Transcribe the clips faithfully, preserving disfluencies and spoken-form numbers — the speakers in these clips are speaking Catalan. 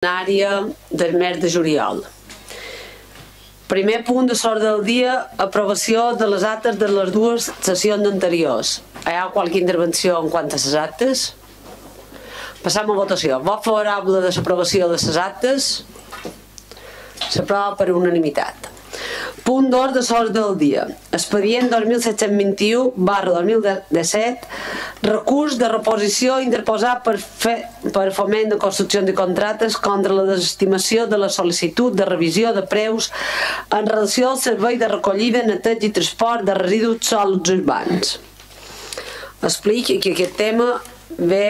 Àrea del mes de juliol. Primer punt de l'ordre del dia, aprovació de les actes de les dues sessions anteriors. Hi ha qualque intervenció en quant a les actes? Passam a votació. Vot favorable de l'aprovació de les actes? S'aprova per unanimitat. Punt dos de l'ordre del dia. Expedient dos mil set-cents vint-i-u barra dos mil disset, recurs de reposició interposat per, fe, per foment de construccions i contractes contra la desestimació de la sol·licitud de revisió de preus en relació al servei de recollida, neteja i transport de residus sòlids urbans. Explico que aquest tema ve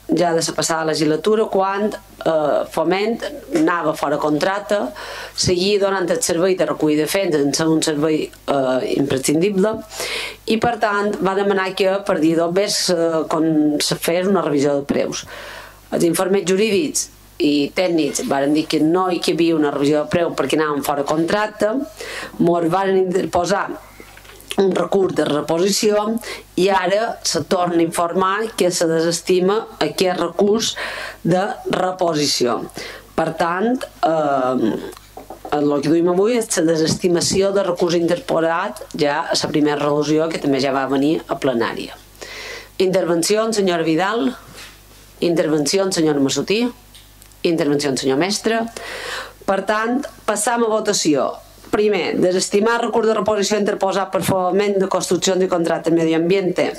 ja de la passada legislatura, quan eh, Foment anava fora contracte, seguia donant el servei de recollida de fets sense un servei eh, imprescindible, i per tant va demanar que per dia dos mesos eh, se fes una revisió de preus. Els informes jurídics i tècnics van dir que no hi havia una revisió de preus perquè anàvem fora contracte, ens van interposar un recurs de reposició i ara se torna a informar que se desestima aquest recurs de reposició. Per tant, eh, el que duim avui és la desestimació de recurs interposat ja a la primera resolució, que també ja va venir a plenària. Intervenció, senyora Vidal. Intervenció, senyora Massutí. Intervenció, senyor Mestre. Per tant, passam a votació. Primer, desestimar recurs de reposició interposat per foment de construccions i contractes de medi ambiente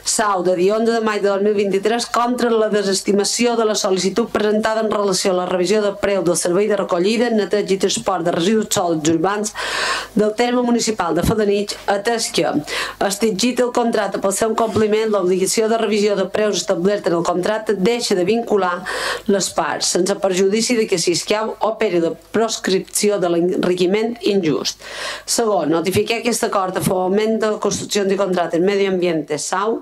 sau de dia onze de maig de dos mil vint-i-tres contra la desestimació de la sol·licitud presentada en relació a la revisió de preu del servei de recollida, neteja i transport de residus sòlids urbans del terme municipal de Felanitx, atès que, extingit el contracte pel seu compliment, l'obligació de revisió de preus establerta en el contracte deixa de vincular les parts, sense perjudici de que si escau operi la proscripció de l'enriquiment injust. Segon, notificar aquest acord a foment de construccions i contractes de medi ambiente sau.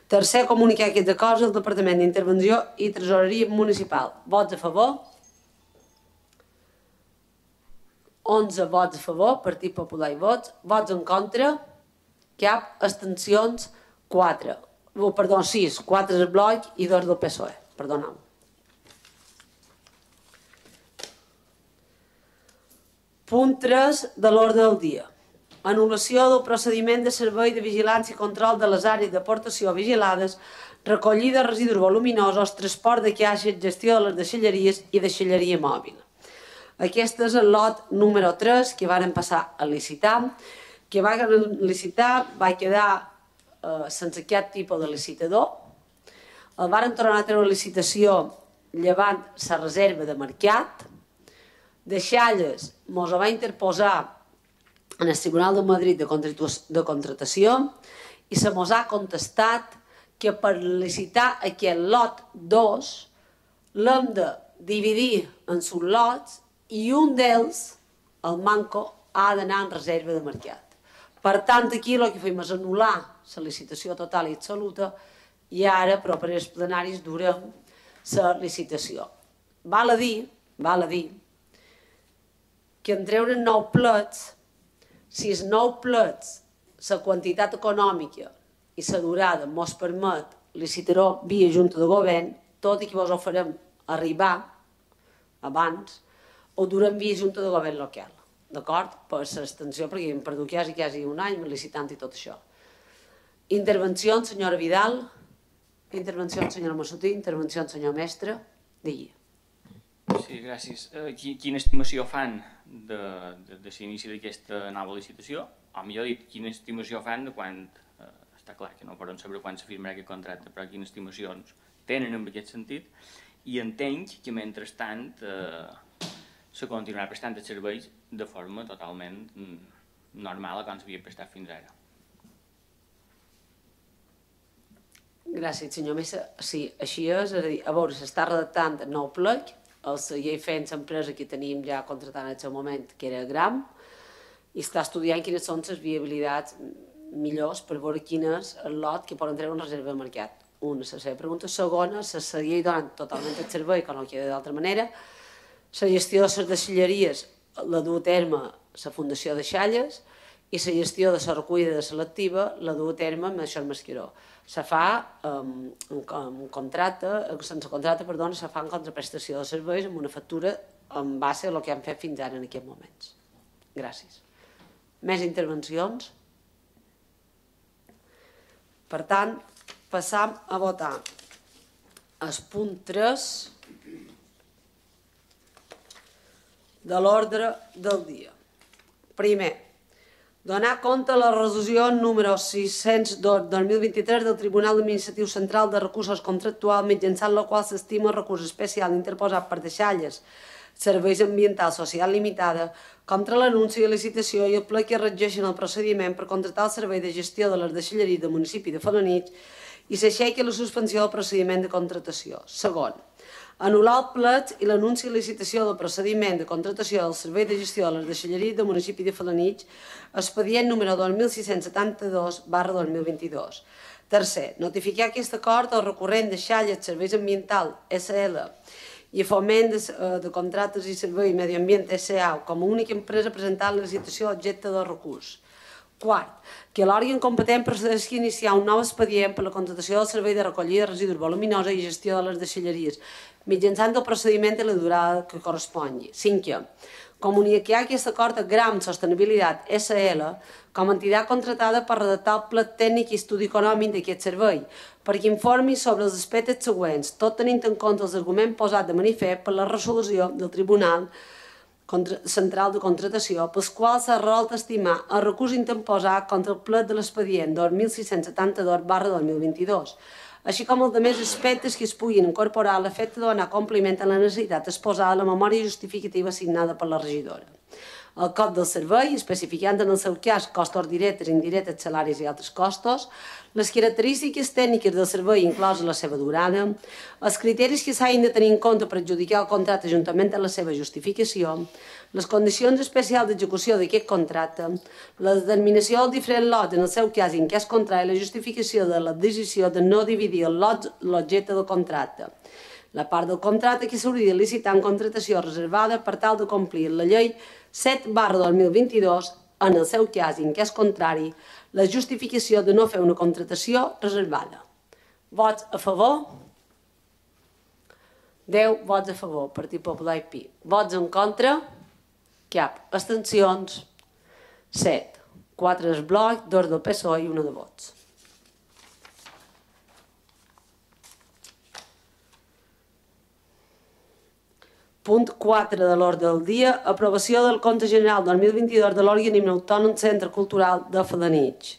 Tercer, comunicar aquests acords al Departament d'Intervenció i Tresoreria Municipal. Vots a favor? onze vots a favor, Partit Popular i vots. Vots en contra? Cap. Abstencions? quatre. Oh, perdó, sis. quatre del bloc i dos del P S O E. Perdoneu. Punt tres de l'ordre del dia. Anul·lació del procediment de servei de vigilància i control de les àrees d'aportació vigilades, recollida de residus voluminosos, transport de caixes, gestió de les deixalleries i deixalleria mòbil. Aquest és el lot número tres que varen passar a licitar, que va licitar, va quedar eh, sense cap tipus de licitador. El varen tornar a treure a licitació llevant la reserva de mercat. De Xalles mos va interposar en el Tribunal de Madrid de Contratació i se mos ha contestat que per licitar aquest lot dos l'hem de dividir en sublots i un d'ells, el manco, ha d'anar en reserva de mercat. Per tant, aquí el que fem és anul·lar la licitació total i absoluta i ara, però per als plenaris, durem la licitació. Val a dir, val a dir, que en treure nou plets, si els nou plets, la quantitat econòmica i la durada mos permet licitar-ho via Junta de Govern, tot i que vos ho farem arribar abans, ho durem via Junta de Govern local, d'acord? Per l'extensió, perquè hem perdut quasi, quasi un any licitant i tot això. Intervenció, senyora Vidal. Intervenció, senyora Massutí. Intervenció, senyor Mestre. Digui. Sí, gràcies. Quina estimació fan de l'inici d'aquesta nova licitació? O millor dit, quina estimació fan de quan, està clar que no podem saber quan s'afirmarà aquest contracte, però quines estimacions tenen en aquest sentit, i entenc que mentrestant se continuarà prestant els serveis de forma totalment normal com s'havia prestat fins ara. Gràcies, senyor Mesa. Sí, així és, és a dir, a veure, s'està redactant el nou plec, el seguir fent l'empresa que teníem ja contratant en aquest moment, que era Gram, i està estudiant quines són les viabilitats millors per veure quin és el lot que poden treure en reserva de mercat. Una, la seva pregunta. Segona, se seguir donant totalment el servei, com no queda d'altra manera. La gestió de les deixalleries la du a terme la Fundació de Xalles, i la gestió de la recollida selectiva la du a terme amb això el Masqueró. Se fa en contracte, sense contracte, perdó, se fa en contraprestació de serveis amb una factura en base a el que han fet fins ara en aquests moments. Gràcies. Més intervencions? Per tant, passam a votar el punt tres de l'ordre del dia. Primer, donar compte a la resolució número sis-cents dos barra dos mil vint-i-tres del Tribunal Administratiu Central de Recursos Contractuals mitjançant la qual s'estima el recurs especial interposat per Deixalles Serveis Ambientals Social Limitada contra l'anunci de licitació i el ple que regeixen el procediment per contractar el servei de gestió de les deixalleries del municipi de Felanitx i s'aixequi la suspensió del procediment de contractació. Segon, anul·lar el plet i l'anunci de licitació del procediment de contractació del servei de gestió de les deixalleries del municipi de Felanitx, expedient número dos mil sis-cents setanta-dos barra dos mil vint-i-dos. Tercer, notificar aquest acord al recurrent Deixalles Serveis Ambientals S L i Foment de Contractes i Serveis Medi Ambient S A com a única empresa presentant la licitació objecte del recurs. Quart, que l'òrgan competent procedeixi a iniciar un nou expedient per la contractació del servei de recollida de residus voluminosos i gestió de les deixalleries, mitjançant el procediment i la durada que correspongui. Cinquè, comunicar aquest acord a Gram Sostenibilitat S L com a entitat contratada per redactar el pla tècnic i estudi econòmic d'aquest servei, perquè informi sobre els aspectes següents, tot tenint en compte els arguments posats de manifest per la resolució del Tribunal Central de Contractació, pels quals s'ha resolt estimar el recurs interposat contra el plet de l'expedient dos mil sis-cents setanta-dos barra dos mil vint-i-dos, així com els altres aspectes que es puguin incorporar a l'efecte de donar compliment a la necessitat exposada a la memòria justificativa assignada per la regidora. El cost del servei, especificant en el seu cas costos directes, indirectes, salaris i altres costos, les característiques tècniques del servei inclosa la seva durada, els criteris que s'hagin de tenir en compte per adjudicar el contracte juntament amb la seva justificació, les condicions especials d'execució d'aquest contracte, la determinació dels diferents lots en el seu cas i en cas contrari la justificació de la decisió de no dividir el lot l'objecte del contracte, la part del contracte que s'hauria de licitar en contractació reservada per tal de complir la llei set barra dos mil vint-i-dos, en el seu cas i en cas contrari, la justificació de no fer una contractació reservada. Vots a favor? deu vots a favor, Partit Popular i Pi. Vots en contra? Cap. Abstencions? set. quatre del bloc, dos del P S O E i una de vots. Punt quatre de l'ordre del dia, aprovació del compte general dos mil vint-i-dos de l'Organisme Autònom Centre Cultural de Felanitx.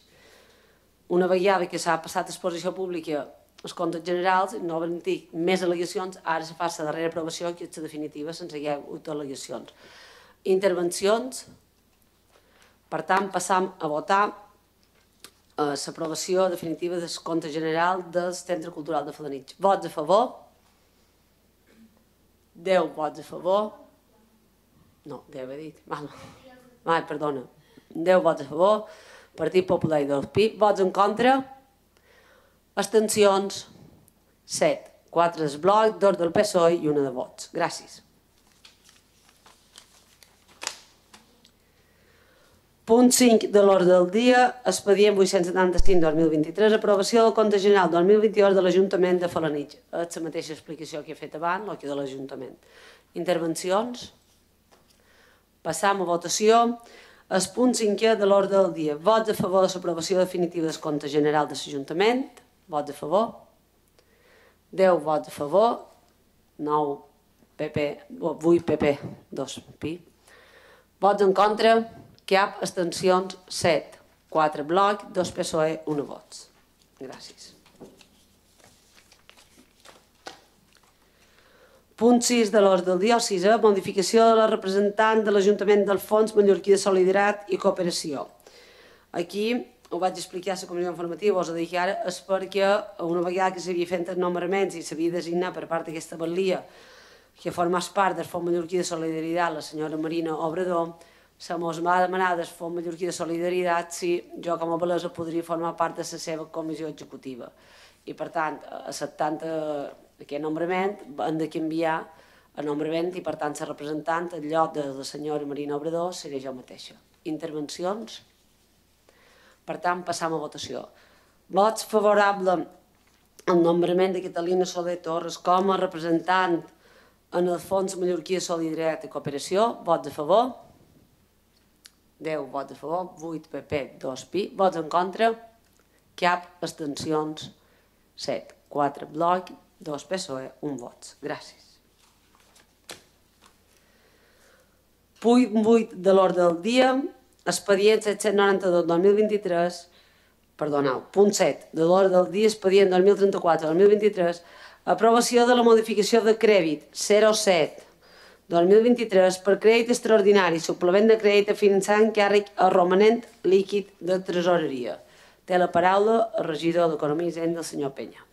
Una vegada que s'ha passat a exposició pública els comptes generals, no van dir més al·legacions, ara se fa la darrera aprovació, que és la definitiva, sense hi ha hagut al·legacions. Intervencions? Per tant, passam a votar l'aprovació definitiva del compte general del Centre Cultural de Felanitx. Vots a favor? deu vots a favor. No, deu he dit. Ai, perdona. deu vots a favor. Partit Popular i del Pi. Vots en contra? Abstencions? set. quatre del bloc, dos del P S O E i una de vots. Gràcies. Punt cinc de l'ordre del dia, expedient vuit-cents setanta-cinc dos mil vint-i-tres, aprovació del compte general dos mil vint-i-dos de l'Ajuntament de Felanitx. És la mateixa explicació que he fet abans, el que de l'Ajuntament. Intervencions? Passam a votació. El punt cinquè de l'ordre del dia. Vots a favor de l'aprovació definitiva del compte general de l'Ajuntament. Vots a favor. deu vots a favor. nou P P, vuit P P, dos Pi. Vots en contra. Cap. Abstencions? set. quatre bloc, dos P S O E, una vots. Gràcies. Punt sis de l'ordre del dia, el sisè, modificació de la representant de l'Ajuntament del Fons Mallorquí de Solidaritat i Cooperació. Aquí ho vaig explicar a la comissió informativa, us ho dic ara, és perquè una vegada que s'havia fet els nomenaments i s'havia designat per part d'aquesta batllia que formés part del Fons Mallorquí de Solidaritat, la senyora Marina Obrador, se mos va demanar del Fons Mallorquí de Solidaritat si jo com a balesa podria formar part de la seva comissió executiva. I per tant, acceptant aquest nombrament, hem de canviar el nombrament i per tant la representant, en lloc de la senyora Marina Obrador, seré jo mateixa. Intervencions? Per tant, passam a votació. Vots favorables al nombrament de Catalina Soler Torres com a representant en el Fons Mallorquí de Solidaritat i Cooperació. Vots a favor? deu vots a favor, vuit P P, dos P I. Vots en contra? Cap. Abstencions? set. quatre Bloc, dos P S O E, un vot. Gràcies. Punt vuit de l'ordre del dia, expedient set-cents noranta-dos dos mil vint-i-tres, perdoneu, punt set de l'ordre del dia, expedient dos mil trenta-quatre dos mil vint-i-tres, aprovació de la modificació de crèdit zero set dos mil vint-i-tres per crèdit extraordinari, suplement de crèdit a finançar encàrrec a romanent líquid de tresoreria. Té la paraula el regidor d'Economia i Hisenda, el senyor Penya.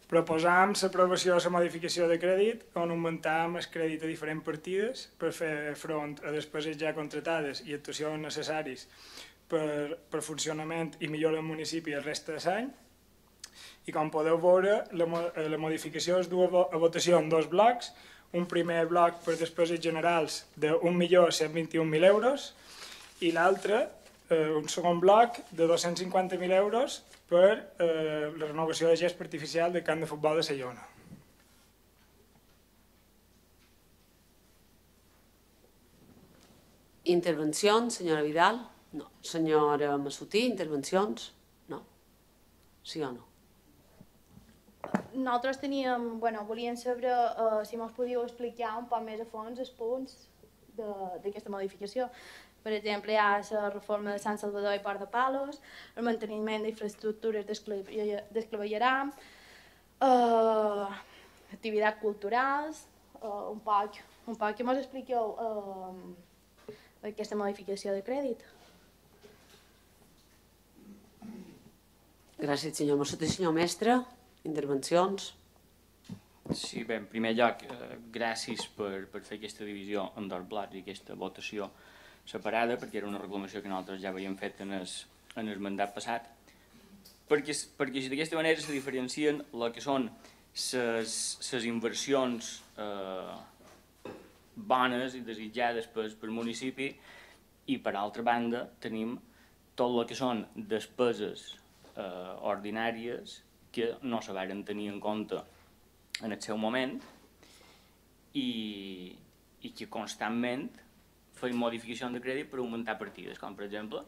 Proposam l'aprovació de la modificació de crèdit on augmentam el crèdit a diferents partides per fer front a despeses ja contratades i actuacions necessaris per, per funcionament i millora del municipi el resta de l'any. I com podeu veure, la, la modificació es du a votació en dos blocs. Un primer bloc per despeses generals d'un milió cent vint-i-un mil euros i l'altre, eh, un segon bloc de dos-cents cinquanta mil euros per eh, la renovació de gest artificial del camp de futbol de Sallona. Intervencions, senyora Vidal? No. Senyora Massutí, intervencions? No. Sí o no? Nosaltres teníem, bueno, volíem saber uh, si mos podíeu explicar un poc més a fons els punts d'aquesta modificació. Per exemple, hi ha la reforma de Sant Salvador i Port de Palos, el manteniment d'infraestructures d'esclavelleram, uh, activitats culturals, uh, un poc, un poc que mos expliqueu uh, aquesta modificació de crèdit. Gràcies, senyor Massutí. Senyor mestre, intervencions? Sí, bé, en primer lloc, eh, gràcies per, per fer aquesta divisió en dos blocs i aquesta votació separada, perquè era una reclamació que nosaltres ja havíem fet en el, en el mandat passat, perquè, perquè d'aquesta manera se diferencien el que són les inversions eh, bones i desitjades pel, pel municipi i, per altra banda, tenim tot el que són despeses eh, ordinàries que no se varen tenir en compte en el seu moment i, i que constantment feien modificacions de crèdit per augmentar partides, com per exemple,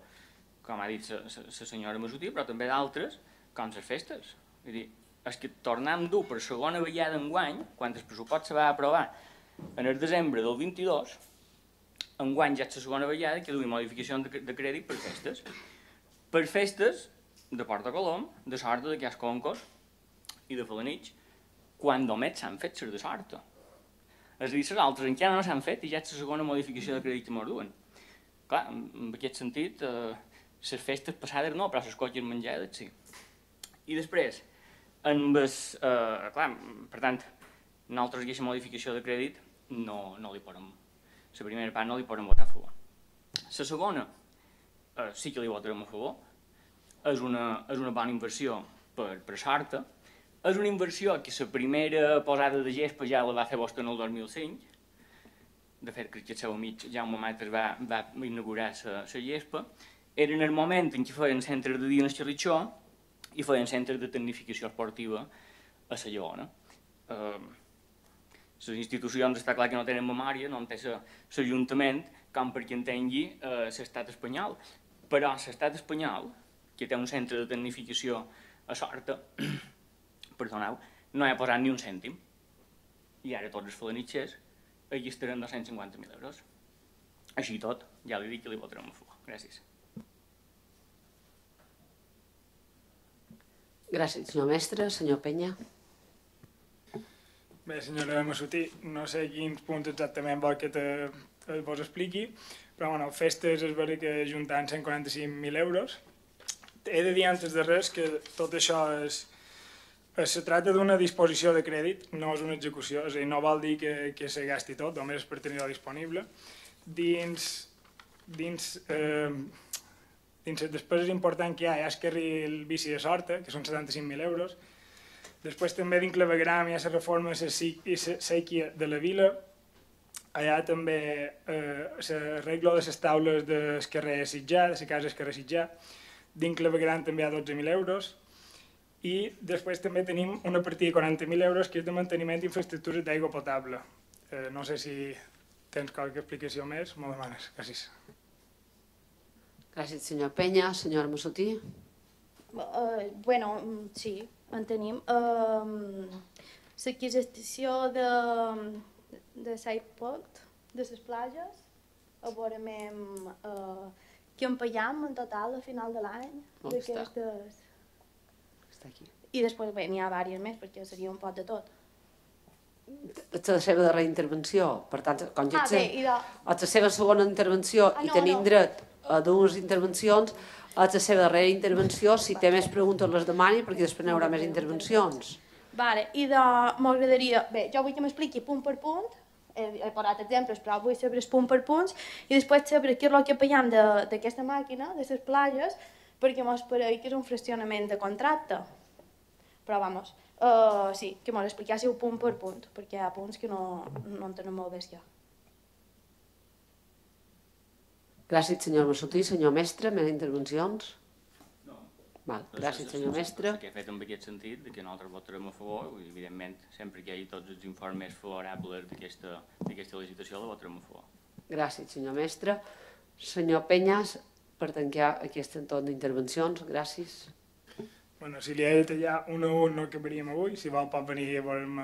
com ha dit la senyora Massutí, però també d'altres, com les festes. Vull dir, és que tornem dur per segona vegada enguany, quan el pressupost se va aprovar en el desembre del vint-i-dos, enguany ja és la segona vegada que duim modificacions de, de crèdit per festes. Per festes de Porta Colom, de Sorta, de Casconcos i de Felanitx, quan només s'han fet les de Sorta. És a dir, les altres encara no s'han fet i ja és la segona modificació de crèdit que ens duen. Clar, en aquest sentit, eh, les festes passades no, però les cotxes menjades sí. I després, amb el, eh, clar, per tant, nosaltres aquesta modificació de crèdit no, no li podem, la primera part no li podem votar a favor. La segona, eh, sí que li votarem a favor, és una, és una bona inversió per, per Sorta, és una inversió que la primera posada de gespa ja la va fer vostè en el dos mil cinc, de fet crec que el seu amic Jaume Mates va, va inaugurar la gespa, era en el moment en què feien centres de dia en el Xerritxó i feien centres de tecnificació esportiva a la Lleona. Eh, les institucions està clar que no tenen memòria, no en té l'Ajuntament com perquè entengui eh, l'estat espanyol, però l'estat espanyol, que té un centre de tecnificació a Sorta, perdoneu, no hi ha posat ni un cèntim. I ara tots els felanitxers aquí estaran dos-cents cinquanta mil euros. Així i tot, ja li dic que li votarem a favor. Gràcies. Gràcies, senyor mestre. Senyor Penya. Bé, senyora Massutí, no sé quins punts exactament vol que te, te vos expliqui, però bueno, festes és vera que juntant cent quaranta-cinc mil euros. He de dir antes de res que tot això és, es tracta d'una disposició de crèdit, no és una execució, és a dir, no vol dir que, que se gasti tot, només per tenir-ho disponible. Dins, dins, eh, dins les despeses importants que hi ha, hi ha el carril bici de Sorta, que són setanta-cinc mil euros. Després també dins clavegram hi ha la reforma i la sèquia de la vila, Allà també l'arreglo de les taules del carrer Sitjà, de la casa del carrer Sitjà. Dins Clavegueran també hi ha dotze mil euros. I després també tenim una partida de quaranta mil euros que és de manteniment d'infraestructures d'aigua potable. No sé si tens qualque explicació més, m'ho demanes. Gràcies. Gràcies, senyor Penya. Senyora Massotí. Bueno, sí, en tenim. L'adquisició de l'airport, de les platges, a veure què en paguem en total a final de l'any d'aquestes... I després n'hi ha diverses més, perquè seria un pot de tot. És la seva darrera intervenció, per tant, com ja Ah, bé, i de... és la seva segona intervenció i tenim dret a dues intervencions, és la seva darrera intervenció, si té més preguntes les demani, perquè després n'hi haurà més intervencions. Vale, i de... m'agradaria... Bé, jo vull que m'expliqui punt per punt, he posat exemples, però vull saber punt per punts, i després saber què és el que paguem d'aquesta màquina, de les platges, perquè mos pareix que és un fraccionament de contracte. Però, vamos, sí, que mos expliquéssiu punt per punt, perquè hi ha punts que no en tenen molt bé ja. Gràcies, senyor Massotí. Senyor mestre, més intervencions? No. Gràcies, senyor mestre. El que he fet en aquest sentit, que nosaltres votarem a favor, i evidentment, sempre que hi hagi tots els informes favorables d'aquesta licitació, la votarem a favor. Gràcies, senyor mestre. Senyor Penyas, per tancar aquest entorn d'intervencions, gràcies. Bueno, si li he de tallar un a un no acabaríem avui, si vol pot venir a veure'm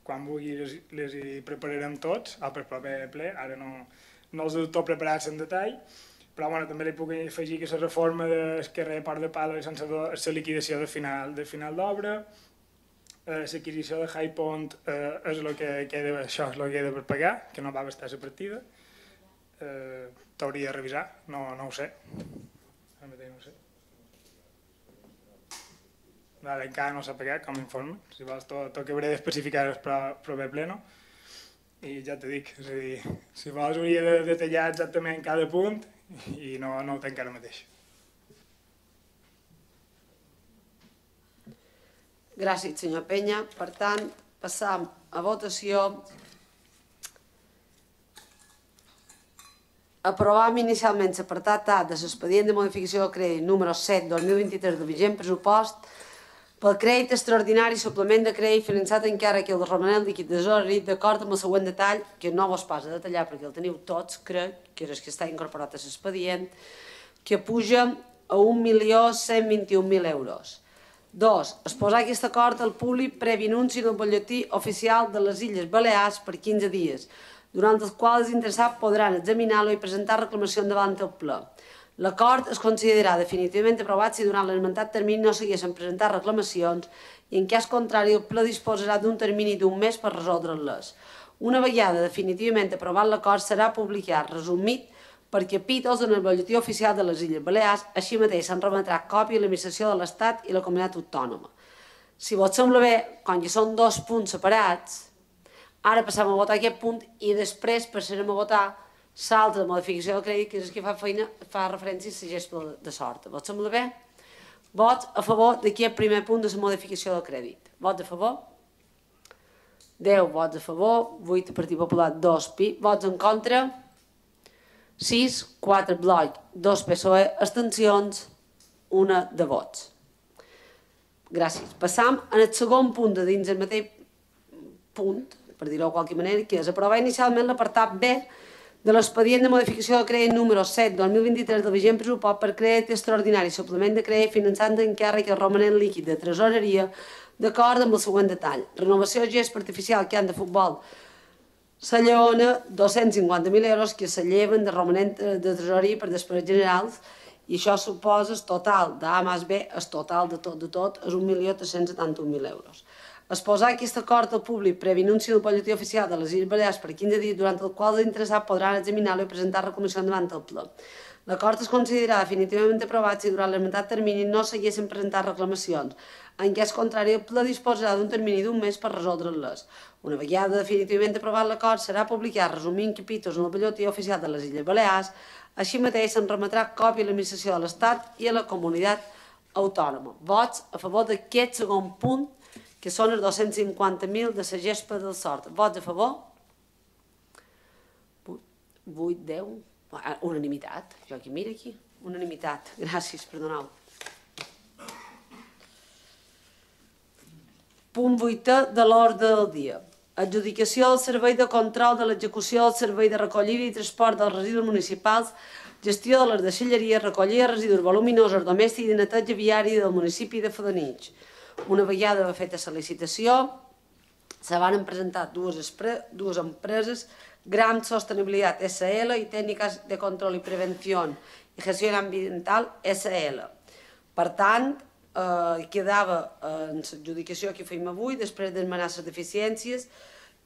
quan vulgui, les hi prepararem tots, al proper ple, ara no els he tot preparats en detall, però també li puc afegir que la reforma del carrer Port de Palo és la liquidació de final d'obra, l'adquisició de High Pond és el que queda, això és el que queda per pagar, que no va bastar la partida, t'hauria de revisar, no ho sé, ara mateix no ho sé. Encara no s'ha pagat com a informe, si vols t'ho acabaré d'especificar el proper pleno. I ja t'ho dic, és a dir, si vols hauria de detallar exactament cada punt i no ho tenc ara mateix. Gràcies, senyor Penya. Per tant, passam a votació. Aprovàvem inicialment l'apartat A de l'expedient de modificació de crèdit número set dos mil vint-i-tres del vigent pressupost pel crèdit extraordinari suplement de crèdit finançat encara que el de romanent líquid de tesoreria d'acord amb el següent detall, que no vos pas a detallar perquè el teniu tots, crec, que és el que està incorporat a l'expedient, que puja a un milió cent vint-i-un mil euros. Dos, exposar aquest acord al públic previ anunci en el butlletí oficial de les Illes Balears per quinze dies, durant els quals els interessats podran examinar-lo i presentar reclamació davant el ple. L'acord es considerarà definitivament aprovat si durant l'esmentat termini no s'haguessin presentat reclamacions i en cas contrari el ple disposarà d'un termini d'un mes per resoldre-les. Una vegada definitivament aprovat l'acord serà publicat resumit per capítols en el butlletí oficial de les Illes Balears, així mateix se'n remetrà còpia a l'administració de l'Estat i la comunitat autònoma. Si vos sembla bé, com que són dos punts separats, ara passem a votar aquest punt i després passarem a votar l'altra modificació del crèdit, que és el que fa feina, fa referència a la gespa de sort. Vos sembla bé? Vots a favor d'aquest primer punt de la modificació del crèdit. Vots a favor? deu vots a favor, vuit Partit Popular, dos Pi, vots en contra, sis, quatre Bloc, dos P S O E, abstencions, una de vots. Gràcies. Passam al segon punt de dins el mateix punt, per dir-ho de qualque manera, que és aprovar inicialment l'apartat B de l'expedient de modificació de crèdit número set dos mil vint-i-tres del vigent pressupost per crèdit extraordinari suplement de crèdit finançant d'encàrrec el romanent líquid de tresoreria d'acord amb el següent detall. Renovació gest artificial que han de futbol la Lleona, dos-cents cinquanta mil euros que se lleven de romanent de tresoreria per despeses generals i això suposa el total d'A més B, el total de tot de tot és un milió tres-cents setanta-un mil euros. Exposar aquest acord al públic previ anunci del butlletí oficial de les Illes Balears per quinze dies durant el qual els interessats podran examinar-lo i presentar reclamació davant el ple. L'acord es considerarà definitivament aprovat si durant l'esmentat termini no s'haguessin presentat reclamacions. En cas contrari, el ple disposarà d'un termini d'un mes per resoldre-les. Una vegada definitivament aprovat l'acord, serà publicat resumint capítols en el butlletí oficial de les Illes Balears. Així mateix se'n remetrà còpia a l'administració de l'Estat i a la comunitat autònoma. Vots a favor d'aquest segon punt, que són els dos-cents cinquanta mil de la gespa del sort. Vots a favor? vuit, deu... Unanimitat. Jo aquí, mira aquí. Unanimitat. Gràcies, perdoneu. Punt vuitè de l'ordre del dia. Adjudicació del servei de control de l'execució del servei de recollida i transport dels residus municipals, gestió de les deixalleries, recollida de residus voluminosos domèstics i de neteja viària del municipi de Felanitx. Una vegada feta la licitació, se van presentar dues, dues empreses, Gram Sostenibilitat S L i Tècniques de Control i Prevenció i Gestió Ambiental S L. Per tant, eh, quedava en l'adjudicació que fèiem avui, després d'esmenar les deficiències,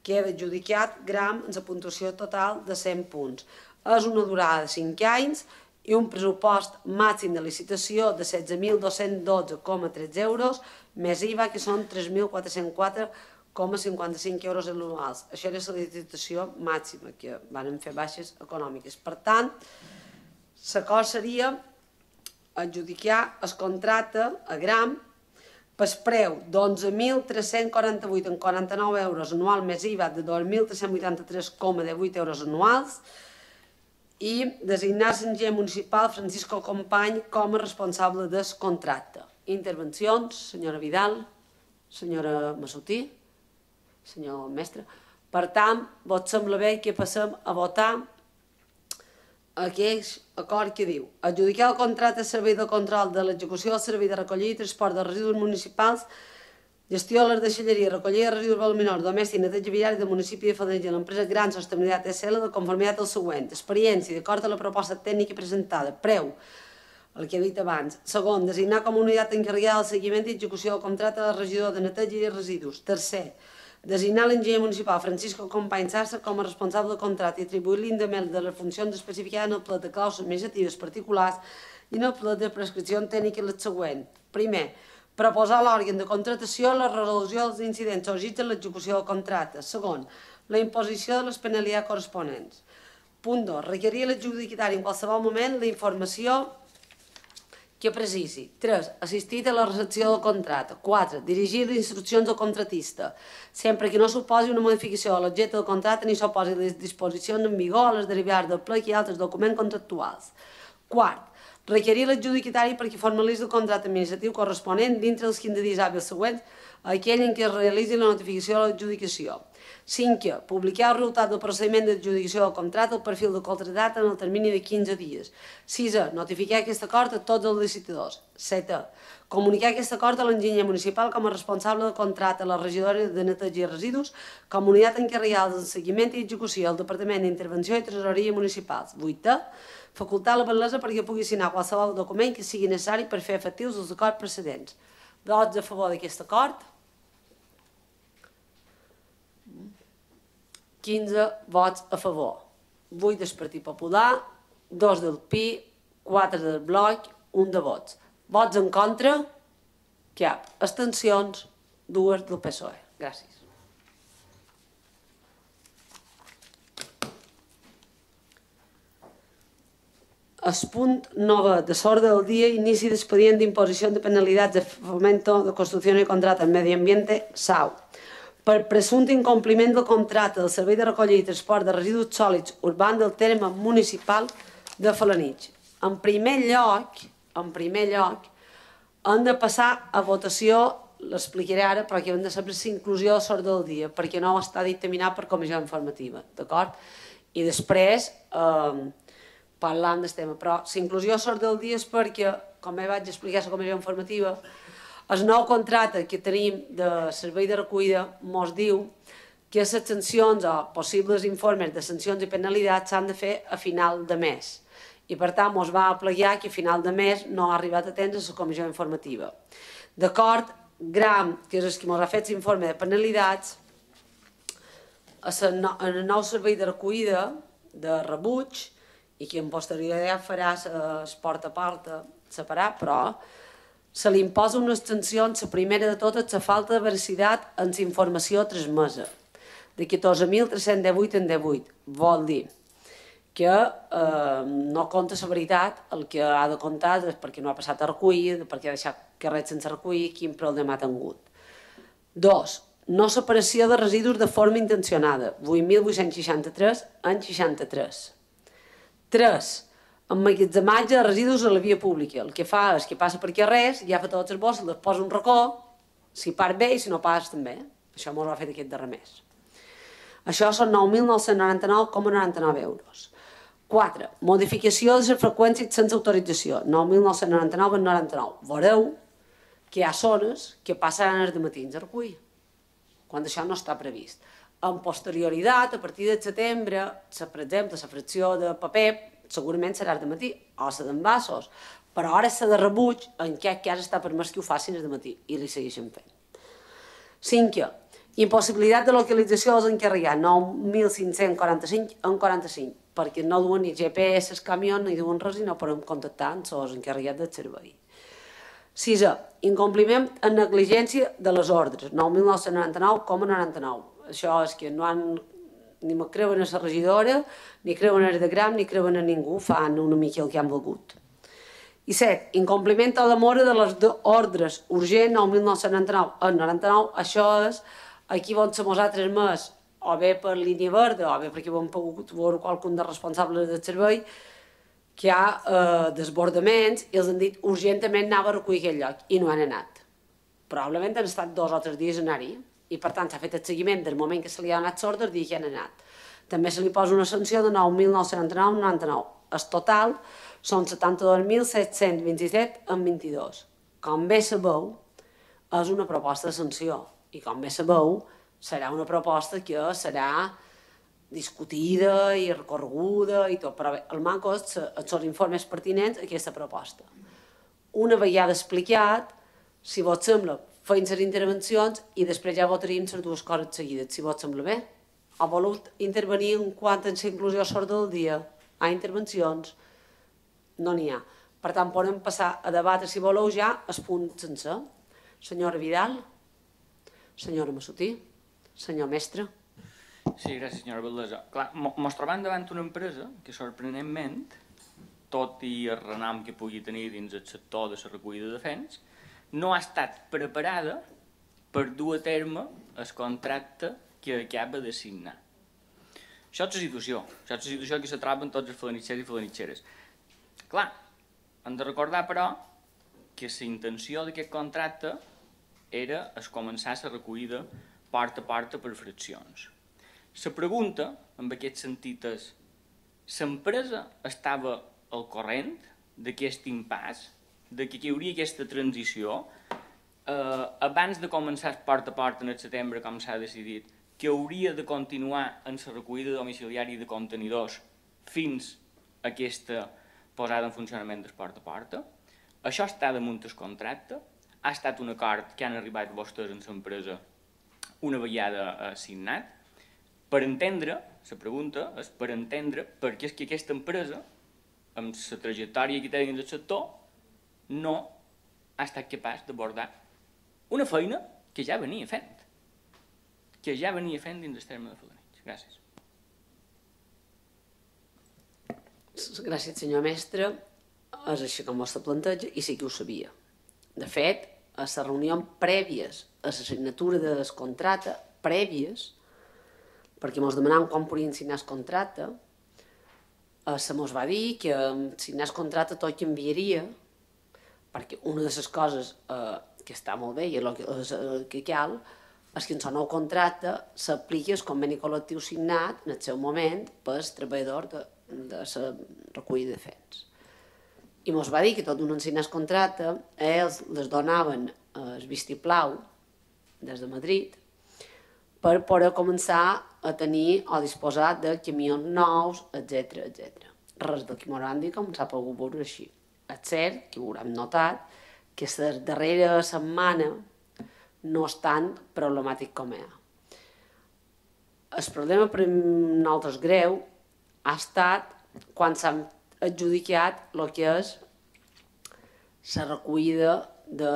queda adjudicat Gram en la puntuació total de cent punts. És una durada de cinc anys i un pressupost màxim de licitació de setze mil dos-cents dotze coma tretze euros, més I V A, que són tres mil quatre-cents quatre coma cinquanta-cinc euros anuals. Això era la licitació màxima, que van fer baixes econòmiques. Per tant, l'acord seria adjudicar el contracte a Gram per preu d'onze mil tres-cents quaranta-vuit coma quaranta-nou euros anual més I V A de dos mil tres-cents vuitanta-tres coma divuit euros anuals i designar l'enginyer municipal Francisco Company com a responsable del contracte. Intervencions, senyora Vidal, senyora Massutí, senyor mestre. Per tant, vos sembla bé que passem a votar aquell acord que diu adjudicar el contracte de servei de control de l'execució del servei de recollida i transport de residus municipals, gestió de les deixalleries, recollida de residus voluminosos domèstics i neteja viària del municipi de Felanitx i l'empresa Gran Sostenibilitat S L de conformitat al següent. Experiència, d'acord amb la proposta tècnica presentada. Preu, el que he dit abans. Segon, designar com a unitat encarregada del seguiment i execució del contracte del regidor de neteja i residus. Tercer, designar l'enginyer municipal Francisco Company Sarsa com a responsable del contracte i atribuir-li indement de les funcions especificades en el plat de clàusules administratives particulars i en el plat de prescripció tècnica les següents. Primer, proposar a l'òrgan de contractació la resolució dels incidents sorgits en l'execució del contracte. Segon, la imposició de les penalitats corresponents. Punt dos, requerir a l'adjudicatari en qualsevol moment la informació que precisi. tres. Assistir a la recepció del contracte. quatre. Dirigir les instruccions al contratista, sempre que no suposi una modificació de l'objecte del contracte ni s'oposi les disposicions en vigor a les derivades del plec i altres documents contractuals. quart. Requerir l'adjudicatari perquè formalitzi el contracte administratiu corresponent dintre dels quinze dies hàbils següents a aquell en què es realitzi la notificació de l'adjudicació. cinquè. Publicar el resultat del procediment d'adjudicació del contracte al perfil del contractat en el termini de quinze dies. sisè. Notificar aquest acord a tots els licitadors. setè. Comunicar aquest acord a l'enginyer municipal com a responsable del contracte, a la regidora de neteja i residus, comunitat encarregada del seguiment i execució al Departament d'Intervenció i Tresoreria Municipals. vuitè. Facultar la batlessa perquè pugui signar qualsevol document que sigui necessari per fer efectius els acords precedents. Vots a favor d'aquest acord? quinze vots a favor. vuit del Partit Popular, dos del P I, quatre del Bloc, un de vots. Vots en contra? Cap. Abstencions? Dues del P S O E. Gràcies. El punt nou de l'ordre del dia, inici d'expedient d'imposició de penalitats de fomento de construcció i contracte en medi ambiente, S A U. Per presumpte incompliment del contracte del Servei de Recollida i Transport de Residus Sòlids Urbans del terme municipal de Felanitx. En primer lloc, en primer lloc, hem de passar a votació, l'explicaré ara, però que hem de saber la inclusió de l'ordre del dia, perquè no està dictaminat per comissió informativa, d'acord? I després eh, parlant del tema, però la inclusió de l'ordre del dia és perquè, com ja vaig explicar a la comissió informativa, el nou contracte que tenim de servei de recollida ens diu que les sancions o possibles informes de sancions i penalitats s'han de fer a final de mes. I per tant ens va aplegar que a final de mes no ha arribat a temps a la comissió informativa. D'acord, Gram, que és el que ens ha fet l'informe de penalitats, en el nou servei de recollida de rebuig, i que en posterioritat farà el porta a porta separat, però se li imposa unes sancions, la primera de totes, la falta de veracitat en la informació transmesa, de catorze mil tres-cents divuit en divuit. Vol dir que eh, no compta la veritat, el que ha de comptar és perquè no ha passat a recollir, perquè ha deixat carrets sense recollir, quin problema ha tingut. Dos, no separació de residus de forma intencionada, vuit mil vuit-cents seixanta-tres en seixanta-tres. Tres, emmagatzematge de residus a la via pública. El que fa és que passa per aquí res, ja fa totes les bosses, les posa un racó, si part bé i si no pas també. Això m'ho ha fet aquest darrer mes. Això són nou mil nou-cents noranta-nou coma noranta-nou euros. Quatre, modificació de les freqüències sense autorització, nou mil nou-cents noranta-nou coma noranta-nou. Veureu que hi ha zones que passaran els dematins a recollir, quan això no està previst. En posterioritat, a partir de setembre, per exemple, la fracció de paper segurament serà el dematí, o la d'envasos, però ara la de rebuig, en aquest cas està permès que ho facin el dematí i li segueixen fent. Cinquè, impossibilitat de localització dels encarregats, nou mil cinc-cents quaranta-cinc en quaranta-cinc, perquè no duen ni G P S els camions, ni duen res i no podem contactar amb els encarregats del servei. Sisè, incompliment en negligència de les ordres, nou mil nou-cents noranta-nou coma noranta-nou. Això és que no han, ni me creuen a la regidora, ni creuen a Gram, ni creuen a ningú, fan una mica el que han volgut. I set, incompliment o demora de les ordres urgent, nou mil nou-cents noranta-nou a noranta-nou, això és aquí on som nosaltres més, o bé per línia verda, o bé perquè ho hem pogut veure qualcun dels responsables del servei, que hi ha eh, desbordaments i els han dit urgentament anava a recollir aquell lloc i no han anat. Probablement han estat dos o tres dies a anar-hi i per tant s'ha fet el seguiment del moment que se li ha donat l'ordre i que han anat. També se li posa una sanció de nou mil nou-cents noranta-nou coma noranta-nou. El total són setanta-dos mil set-cents vint-i-set coma vint-i-dos. Com bé sabeu, és una proposta de sanció i com bé sabeu, serà una proposta que serà discutida i recorreguda i tot, però bé, el manco és els informes pertinents a aquesta proposta. Una vegada explicat, si vos sembla, feim les intervencions i després ja votaríem les dues coses seguides, si vos sembla bé. O voleu intervenir en quant a la inclusió sorda del dia? Hi ha intervencions? No n'hi ha. Per tant, podem passar a debatre, si voleu, ja el punt sencer. Senyora Vidal, senyora Massutí, senyor mestre. Sí, gràcies, senyora Valdesa. Clar, mos trobem davant una empresa que, sorprenentment, tot i el renom que pugui tenir dins el sector de la recollida de fens, no ha estat preparada per dur a terme el contracte que acaba de signar. Això és la situació. Això és la situació que se troben tots els falanitxers i falanitxeres. Clar, hem de recordar, però, que la intenció d'aquest contracte era es començar la recollida porta a porta per fraccions. La pregunta, en aquest sentit, és l'empresa estava al corrent d'aquest impàs, de que hi hauria aquesta transició, eh, abans de començar porta a porta en el setembre, com s'ha decidit, que hauria de continuar en la recollida domiciliària de contenidors fins a aquesta posada en funcionament del porta a porta. Això està damunt el contracte, ha estat un acord que han arribat vostès en l'empresa una vegada signat. Per entendre, la pregunta és per entendre per què és que aquesta empresa, amb la trajectòria que té dins del sector, no ha estat capaç d'abordar una feina que ja venia fent, que ja venia fent dins el terme de Felanitx. Gràcies. Gràcies, senyor mestre. És així com vostè planteja i sí que ho sabia. De fet, a les reunions prèvies a la signatura del contracte, prèvies, perquè ens demanàvem quan podien signar el contracte, se mos va dir que signar el contracte tot canviaria, perquè una de les coses que està molt bé i el que cal és que en el nou contracte s'apliqui el conveni col·lectiu signat en el seu moment pels treballadors de la recollida de fens. I ens va dir que tot d'un signar el contracte, ells les donaven el vistiplau des de Madrid per poder començar a tenir o disposar de camions nous, etcètera, etcètera. Res del que m'ho han dit com s'ha pogut veure així. És cert que ho haurem notat que la darrera setmana no és tan problemàtic com hi ha. El problema per nosaltres greu ha estat quan s'han adjudicat el que és la recollida de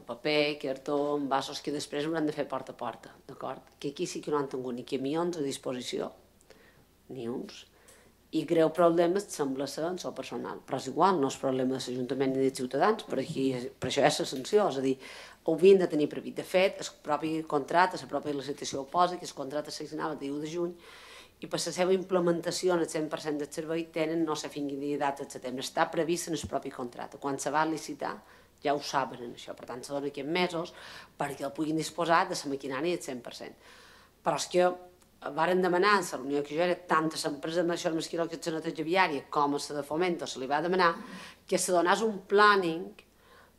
paper, cartó, envasos que després hauran de fer porta a porta, d'acord? Que aquí sí que no han tingut ni camions a disposició, ni uns, i greu problemes sembla ser en el personal, però és igual, no és problema de l'Ajuntament ni dels ciutadans, per això és la sanció, és a dir, ho havien de tenir previst. De fet, el propi contracte, la pròpia licitació ho posa, que el contracte s'assignava el dia u de juny, i per la seva implementació en el cent per cent del servei tenen no sé fins quina data de setembre. Està previst en el propi contracte. Quan se va licitar ja ho saben això, per tant se donen aquests mesos perquè el puguin disposar de la maquinària del cent per cent. Però és que varen demanar en la reunió que jo era tant a l'empresa de Maixó Masquiró que és la neteja viària com a la de Fomento se li va demanar que se donés un planning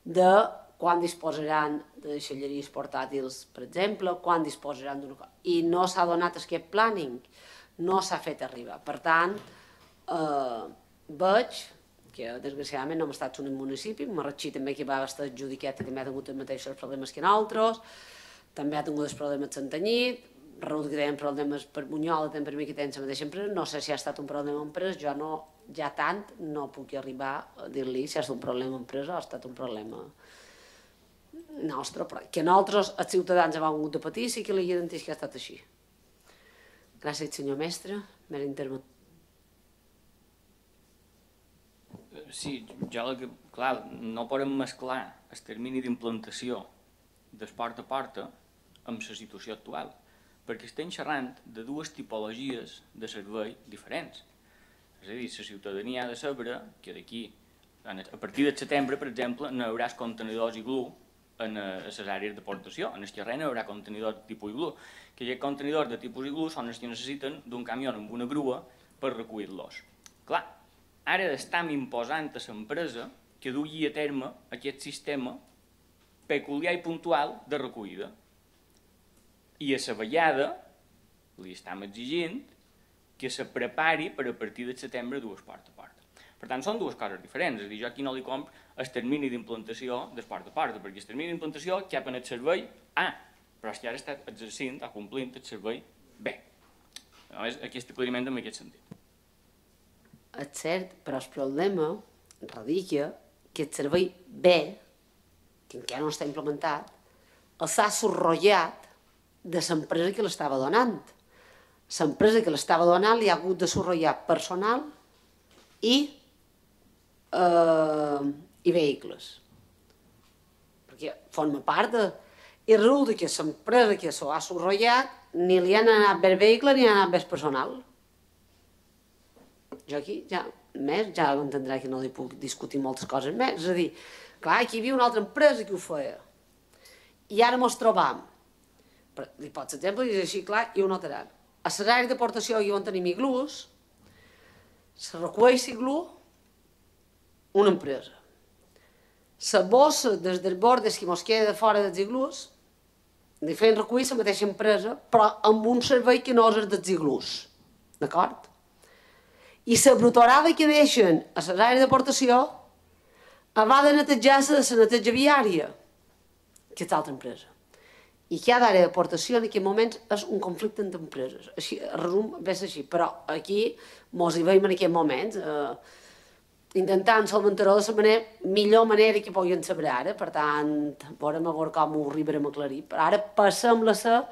de quan disposaran de deixalleries portàtils, per exemple, quan disposaran d'una cosa. I no s'ha donat aquest planning, no s'ha fet arribar. Per tant, eh, veig que desgraciadament no hem estat un municipi, Marratxí també que va estar adjudicat i també ha tingut els mateixos problemes que nosaltres, també ha tingut els problemes de Santanyit, Reut que tenen problemes per Bunyola, també per mi que tenen la mateixa empresa, no sé si ha estat un problema d'empresa, jo no, ja tant no puc arribar a dir-li si ha estat un problema d'empresa o ha estat un problema nostre, però que nosaltres, els ciutadans, hem hagut de patir, sí que li garanteix que ha estat així. Gràcies, senyor mestre, mera intervenció. Sí, jo, clar, no podem mesclar el termini d'implantació del porta a porta amb la situació actual, perquè estem xerrant de dues tipologies de servei diferents. És a dir, la ciutadania ha de saber que d'aquí, a partir de setembre, per exemple, no hi haurà contenidors iglú en les àrees d'aportació. En el terreny hi haurà contenidors de tipus iglú, que aquests contenidors de tipus iglú són els que necessiten d'un camió amb una grua per recollir-los. Clar, ara estem imposant a l'empresa que dugui a terme aquest sistema peculiar i puntual de recollida. I a la vegada li estem exigint que se prepari per a partir de setembre dues porta a porta. Per tant, són dues coses diferents. És a dir, jo aquí no li compro el termini d'implantació del porta a porta, perquè el termini d'implantació cap en el servei A, però és que ara està exercint, està complint el servei B. Aquest aclariment en aquest sentit. És cert, però el problema radica que el servei B, que encara no està implementat, s'ha sorrollat de l'empresa que l'estava donant. L'empresa que l'estava donant li ha hagut de sorrollar personal i, eh, i vehicles. Perquè forma part de... I resulta que l'empresa que s'ho ha sorrollat ni li han anat bé el vehicle ni ha anat bé el personal. Jo aquí ja, més, ja entendrà que no li puc discutir moltes coses més. És a dir, clar, aquí hi havia una altra empresa que ho feia. I ara mos trobam. Li pots exemple, i és així clar, i ho notaran. A les àrees d'aportació on tenim iglús, se recull l'iglú una empresa. La bossa des dels bordes que mos queda de fora dels iglús, li feien recollir la mateixa empresa, però amb un servei que no és el dels iglús. D'acord? I la brutorada que deixen a les àrees d'aportació va de netejar-se de la neteja viària, que és l'altra empresa. I cada àrea d'aportació en aquests moments és un conflicte entre empreses. Així, resum, ve així, però aquí mos hi veiem en aquests moments, eh, intentant solventar-ho de la manera, millor manera que puguin saber ara, per tant, veurem a veure com ho arribarem a aclarir. Però ara passem la ser,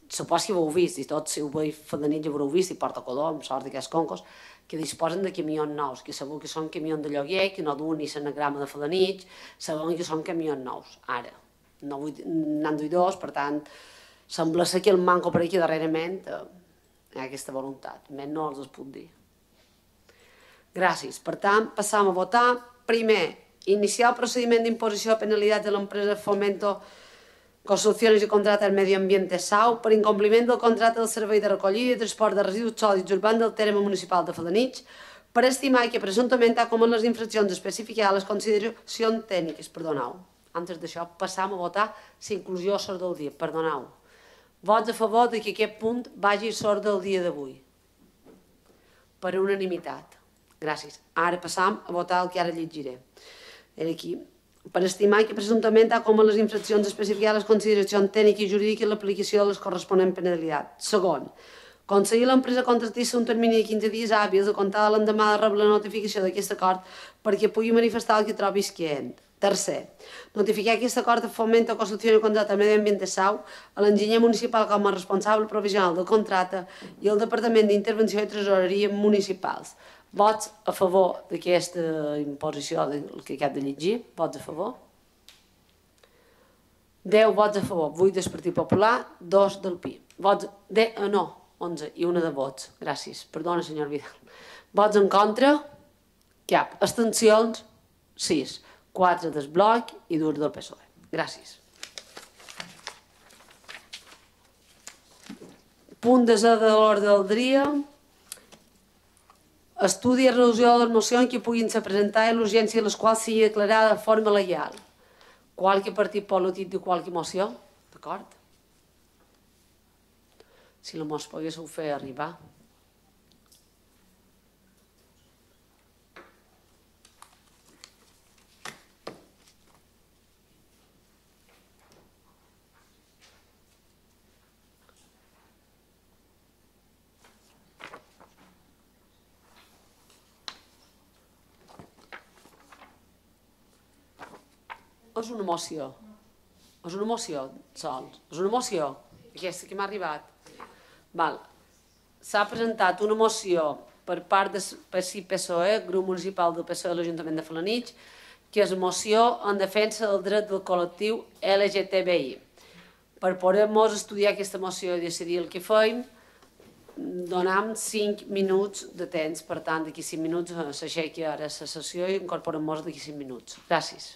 supos que ho heu vist, i tots si ho veig Fedanitx ho heu vist, i Porta Colom, sort d'aquests concos, que disposen de camions nous, que sabeu que són camions de lloguer, que no duen ni l'anagrama de Fedanitx, sabeu que són camions nous, ara. No vull anar duir dos, per tant, sembla ser que el manco per aquí darrerament hi ha aquesta voluntat, més no els es puc dir. Gràcies. Per tant, passam a votar. Primer, iniciar el procediment d'imposició de penalitats de l'empresa Fomento Construcciones y Contratas Medio Ambiente S A U per incompliment del contracte del servei de recollida i transport de residus sòlids urbans del terme municipal de Fedanitx per estimar que presumptament ha comès les infraccions especificades a les consideracions tècniques. Perdoneu. Antes d'això, passam a votar la inclusió a l'ordre del dia. Perdoneu. Vots a favor que aquest punt vagi a l'ordre del dia d'avui. Per unanimitat. Gràcies. Ara passam a votar el que ara llegiré. Era aquí. Per estimar que presumptament ha comès les infraccions especificades a les consideracions tècniques i jurídiques i l'aplicació de les corresponents penalitats. Segon, concedir a l'empresa contractista un termini de quinze dies hàbils a comptar de l'endemà de rebre la notificació d'aquest acord perquè pugui manifestar el que trobi escaient. Tercer, notificar aquest acord de Fomento Construcción y Contrata Medio Ambiente S A U a l'enginyer municipal com a responsable provisional del contracte i al Departament d'Intervenció i Tresoreria Municipals. Vots a favor d'aquesta imposició que acabo de llegir? Vots a favor? deu vots a favor, vuit del Partit Popular, dos del P I. Vots de... No, onze i una de vots. Gràcies. Perdona, senyor Vidal. Vots en contra? Cap. Abstencions? sis. quatre del bloc i dos del P S O E. Gràcies. Punt desè de l'ordre del dia. Estudi i resolució de les mocions que puguin ser presentades i l'urgència de les quals sigui declarada de forma legal. Qualque partit polític de qualque moció? D'acord? Si la mos poguéssiu fer arribar. És una moció. És una moció, sols. És una moció. Aquesta que m'ha arribat. Val. S'ha presentat una moció per part del P S I P S O E, grup municipal del P S O E de l'Ajuntament de Felanitx, que és moció en defensa del dret del col·lectiu L G T B I. Per poder-nos estudiar aquesta moció i decidir el que fem, donem cinc minuts de temps. Per tant, d'aquí cinc minuts s'aixequi ara la sessió i incorporem-nos d'aquí cinc minuts. Gràcies.